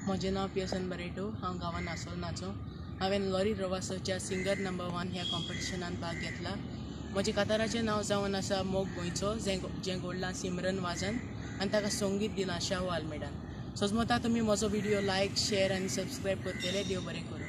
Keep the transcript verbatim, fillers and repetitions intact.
म्हजें नांव Pearson Barreto. हांव गांवान आसोलनाचो. हांवें लॉरी रवासोच्या सिंगर नंबर वन ह्या कॉम्पिटिशनान भाग घेतला. म्हजें काताराचें नांव जावन आसा मोग गोंयचो, जें जें घडलां सिमरन वाजन आनी ताका संगीत दिलां शाहू आल्मेडान. सोजमता तुमी म्हजो व्हिडियो लायक, शेअर आनी सबस्क्रायब करतले. देव बरें करूं.